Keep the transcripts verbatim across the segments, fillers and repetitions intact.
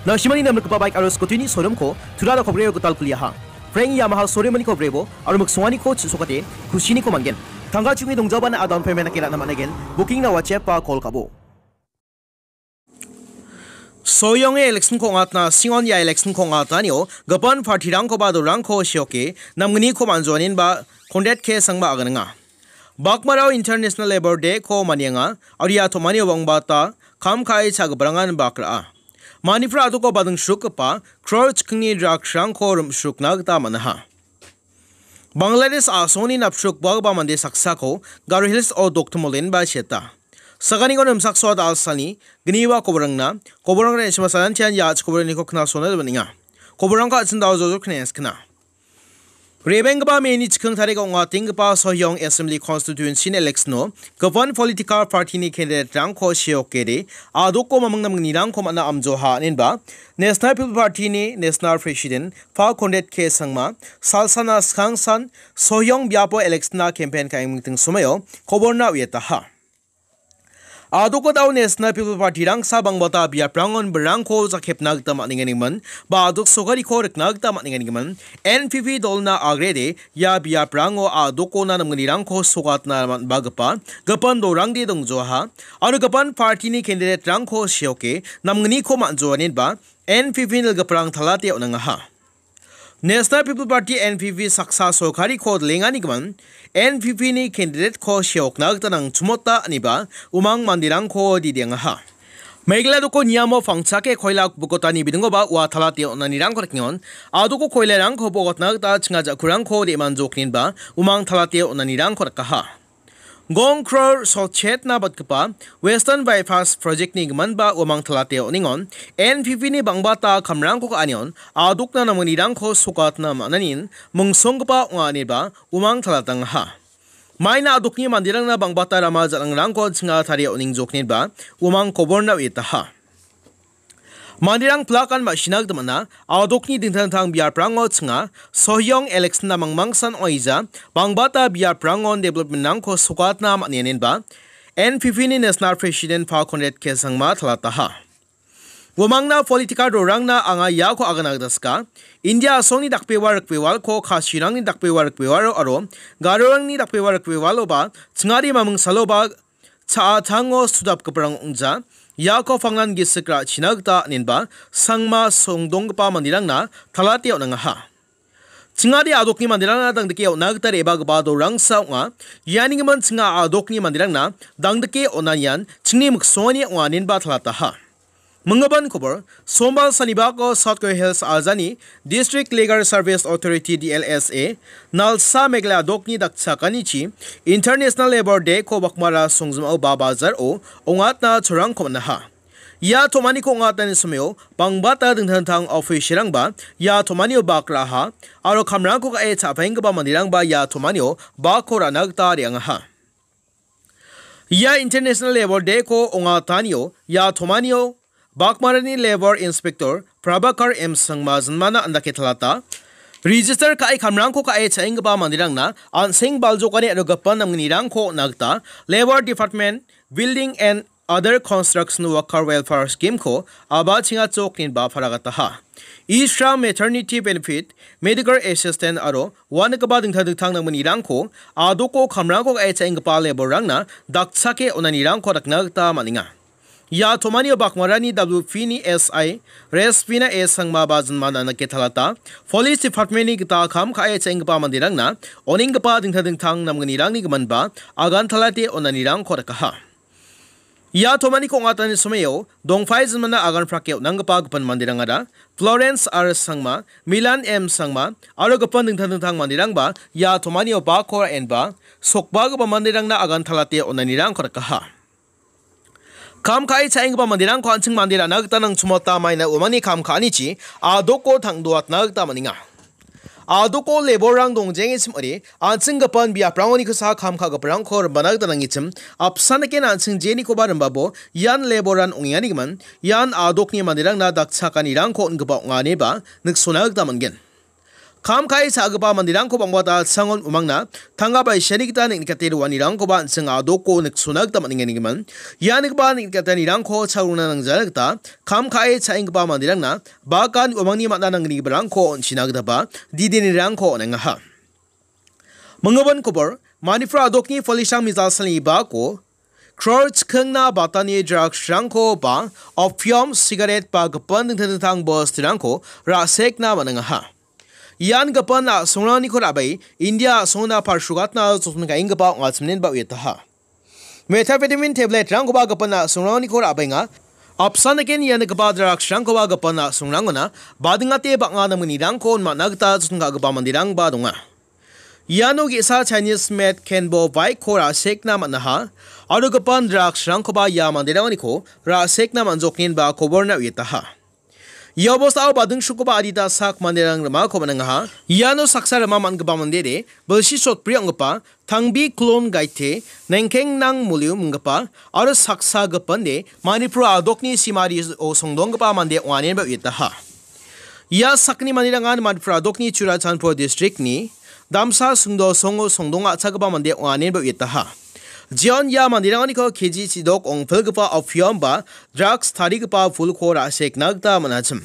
Nasimani namrikgipa baik aro scooty-ni showroom-ko Turara Kobreo gital kuliaha. Frank Yamaha showroom-aniko brebo aro miksonganiko chisokate kusiniko man·gen. Tangka chingni dongjabana a-down payment-ake ra·na man·aigen. Booking-na WhatsApp-a call ka·bo. Soyonge election-ko ong·atna, singon ia election-ko ong·atanio gipin party-rangkoba dolrangko seoke namgniko man·joaninba Conrad K Sangma aganenga. Bakmarao International Labour Day-ko manienga, aro ia tom·anio bangbata kam ka·e cha·giparangan bak ra·a. Manipur a·doko bading srukgipa crore chikkingni drugs-rangko rim·srukna gita man·aha. Bangladesh a·songni napsrukbagipa mande saksako Garo Hills-o doktimol denba seta. Saganiko nimsaksoa dalsani gniwa koborangna, koborang re·sima salantian ia·chik koboraniko knasona man·enga. Koborangko an·ching dao jojok knengaskna. Rebenggipa May-ni chikking tarik ong·atenggipa Sohyong Assembly Constituency-ni election-o gipin political party-ni candidate-rangko seokede a·doko maming namgnirangko man·a amjoha inenba National People Party-ni National President Pha Conrad K Sangma salsana skangsan Sohyong biapo election-na campaign ka·engmingting somoio koborna uiataha. A·doko dao National People Party-rangsa bangbata biaprangon birangko jakepna gita man·enganigimin, ba a·dok sokariko rikna gita man·enganigimin, N P P dolna agrede ia biaprango a·dokona namgnirangko sokatna man·bagipa gipin dolrangde dongjoaha, aro gipin party-ni candidate-rangko seoke namgniko man·joaninba N P P nilgiparang talate on·angaha. National People Party, N P P, saksa sorkariko dilenganigimin N P P-ni candidate-ko seokna gita nangchimota iniba umang manderangko didiangaha. Meghalaya doko niamo pangchake koila bokotani bidingoba ua talate on·anirangko rikengon. A·doko koilarangko bokotna gita chinga ja·kurangko de·manjokninba umang talate on·anirangko rikaha. Gong crore sotchetna batgipa Western Bypass Project-ni giminba uamang talate on·engon, N P P-ni bangbata kamrangko ka·anion a·dokna namgnirangko sokatna man·anin mingsonggipa ong·a ineba uamang talatangaha. Maina a·dokni manderangna bangbata rama ja·nangrangko chinga tarie on·engjokninba uamang koborna uiataha. Manderang plakan ma·sina gita man·a, a·dokni dingtang dingtang biaprango chinga, Sohyong election-na mangmangsan ong·aija, bangbata biaprangon development-rangko sokatna man·enenba, N P P-ni National President Pha Conrad K Sangma talataha. Uamangna political rorangna anga iako agana gita sika, India a·songni dakbewa rikbewalko Khasirangni dakbewa rikbewalo aro Garorangni dakbewa rikbewaloba chingari mamingsaloba cha·atango sudapgiparang ong·ja, iako pangnan gisik ra·china gita inenba Sangma songdonggipa manderangna talate on·angaha. Chingari a·dokni manderangna dangdike on·a gita re·bagipa dolrangsa ong·a. Iani gimin chinga a·dokni manderangna dangdike on·a ian chingni miksongani ong·a inenba talataha. Minggipan kobor, Sombal Sanibako South Garo Hills Ajani District Legal Service Authority, D L S A, Nalsa Meghalaya a·dokni dakchakanichi International Labour Day-ko bakmara songjim·ao ba bazar-o ong·atna cholrangko man·aha. Ia tom·aniko ong·atani somao bangbata dingtang dingtang office-rangba ia tom·anio bak ra·aha aro kamrangko ka·e cha·paenggipa manderangba ia tom·anio bakko ra·na gita re·angaha. Ia International Labour Day-ko ong·atanio ia tom·anio bakmarani Labour Inspector Prabhakar M Sangma jinmana andake talata. Register ka·e kamrangko ka·e cha·enggipa manderangna an·seng baljokani aro gipin namgnirangko on·a gita Labour Department Building and Other Construction Worker Welfare Scheme-ko a·bachenga chok inba paragataha. E-Shram, Maternity Benefit, Medical Assistance aro uanigipa dingtang dingtang namgnirangko a·doko kamrangko ka·e cha·enggipa labour-rangna dakchake on·anirangko dakna gita man·enga. Ia tom·anio bakmarani W P-ni S I Respina A Sangma ba jinmana andake talata, Police Department-ni gita kam ka·e cha·enggipa manderangna on·enggipa dingtang dingtang namgnirangni giminba agan talate on·anirangko dakaha. Ia tom·aniko ong·atani somao dongpai jinmana agan prake on·anggipa gipin manderangara Florence R Sangma, Milan M Sangma aro gipin dingtang dingtang manderangba ia tom·anio bakko ra·enba sokbagipa manderangna agan talate on·anirangko dakaha. Kam ka·e cha·enggipa manderangko an·ching mande ra·na gita nangchimota maina uamangni kam ka·anichi a·doko tang·doatna gita man·enga. A·doko labour-rang dongjengechim ong·ode, an·chinggipan biaprangonikosa kam ka·giparangko rimbana gita nangichim, apsan dake an·ching jenikoba rimbabo ian labour-an ong·enganigimin, ian a·dokni manderangna dakchakanirangko on·gipa ong·a ineba niksona gita man·gen. Kam ka·e cha·gipa manderangko bang·bata changon umangna tangka baisiani gita neng·nikate roanirangkoba an·ching a·doko niksona gita man·enga. Ia nikgipa neng·nikatanirangko cha·rona nangjana gita kam ka·e cha·enggipa manderangna bagan umangni man·a nangnigiparangko on·china gitaba didenirangko on·engaha. Minggipa kobor, Manipur a·dokni polisrang mijalsalni bako crore chikingna batani drugsrangko ba opium, sigaret ba gipin dingtang dingtang bosturangko ra·sekna man·engaha. Ian gipin a·songrangko ra·bae India a·songna palsrogatna joton ka·enggipa ong·achim ineba uiataha. Methamphetamine tabletrangkoba gipin a·songrangko ra·baenga. Apsan eken ia nikgipa drugsrangkoba gipin a·songrangona badingate bang·a namgnirangko on·na gita joton ka·gipa manderangba donga. Iano ge·sa Chinese made Kenbo bike-ko ra·sekna man·aha. Aro gipin drugsrangkoba ia manderangoniko ra·sekna man·joknenba koborna uiataha. Ia bostao badingsukoba adita sak manderang rimako man·engaha. Iano saksa rima man·gipa mandede bilsi sotbri ong·gipa Tangbi Klon Gaite, Nengkeng Nang Muliu minggipa aro saksa gipinde Manipur a·dokni simario songdonggipa mande ong·anenba uiataha. Ia sakni manderangan Manipur a·dokni Churachandpur districtni damsa sungdo songo songdong a·chakgipa mande ong·anenba uiataha. Jeon ia manderangoniko K G chidok ong·pilgipa opium ba drugs tarigipa pulko ra·sekna gita man·achim.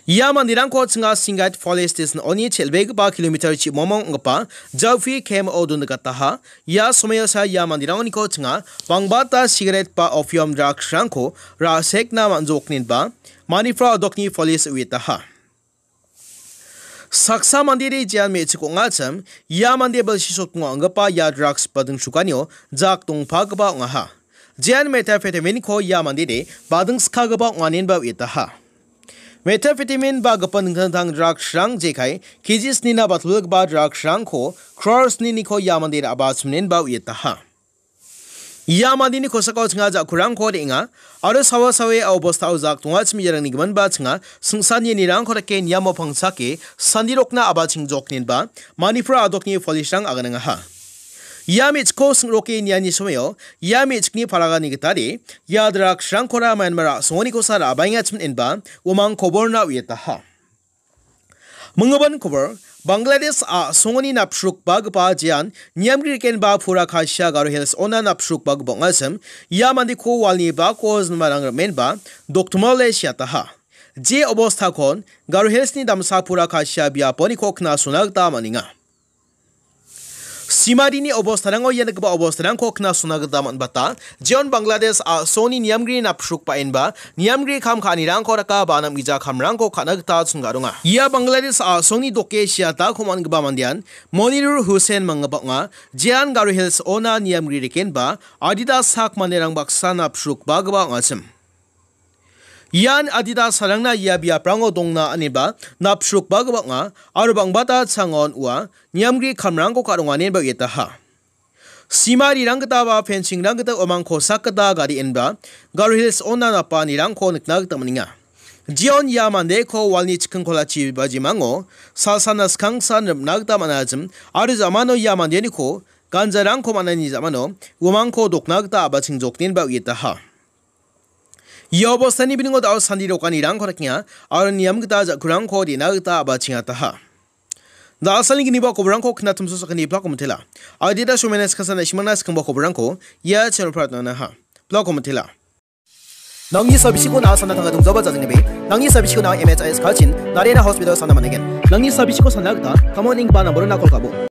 Ia manderangko chinga Singat Police Station-oni chel·begipa kilometer chimongmong ong·gipa Jaufi K M-o dongikataha. Ia somoiosa ia manderangoniko chinga bangbata sigaret ba opium drugsrangko ra·sekna man·joknenba Manipur a·dokni police uiataha. Saksa mandede jean me·chik ong·achim, ia mande bilsi sotgimo ong·gipa ia drugs badingsukanio jak dongpagipa ong·aha. Jean methamphetamine-ko ia mandede badingskagipa ong·anenba uiataha. Methamphetamine ba gipin dingtang dingtang drugsrang jekai K G snina batulgipa drugsrangko crore sniniko ia mandede a·bachimnenba uiataha. Ia mandeni kosako chinga ja·kurangko re·enga aro sawa sawe a obostao jak dongachim iarangni giminba chinga singsanirangko dake niamo pangchake sandirokna a·bachingjoknenba Manipur a·dokni polisrang aganengaha. Ia me·chikko sing·roke niani somoio ia me·chikni palagani gitade ia drugsrangkora Myanmar a·songonikosa ra·baengachim inba uamang koborna uiataha. Minggipa kobor, Bangladesh a·songoni napsrukbagipa jean niamgrikenba pura Kasia Garo Hills-ona napsrukbagipa ong·achim, ia mandeko walni bako jinmarang rimenba doktomole siataha. Je obostakon Garo Hills-ni damsa pura Kasia biaponiko knasona gita man·enga. Simarini obostarango ia nikgipa obostarangko knasona gita man·bata. Jeon Bangladesh a·songni niamgri napsrukbaenba niamgri kam ka·anirangko daka ba namgija kamrangko ka·na gita chingga donga. Ia Bangladesh a·songni doke siatako man·gipa mandean Monirul Hussein manggipa ong·a. Jean Garo Hills-ona niamgri rikenba adita sak manderang baksa napsrukbagipa ong·achim. Ian adita sarangna ia biaprango dongna aniba napsrukbagipa ong·a aro bangbata changon ua niamgri kamrangko ka·ronganeba uiataha. Simarirang gita ba fencing-rang gita uamang kosak gita gari inba Garo Hills-ona napanirangko nikna gita man·enga. Jeon ia mandeko walni chikkingkolachi bajimango salsana skangsan ripna gita man·achim aro jamano ia mandeniko ganjarangko man·ani jamano uamangko dokna gita a·bachingjoknenba uiataha. Ia obostani biningo da·o sandi dokanirangko dakenga aro niam gita ja·kurangko dena gita a·bachengataha. Da·salni gniba koborangko knatumso sakani plako mitela. Adita Shomenes Kasana Ishimana skangba koborangko ia channel pratna naha. Plako mitela. Nangni sabisiko na·a sana tanga dongzaba jajangnibe. Nangni sabisiko na·a M H I S kalchin, Narena Hospital sana manegen. Nangni sabisiko sana gita, kamon ing ba namborona kol kabo.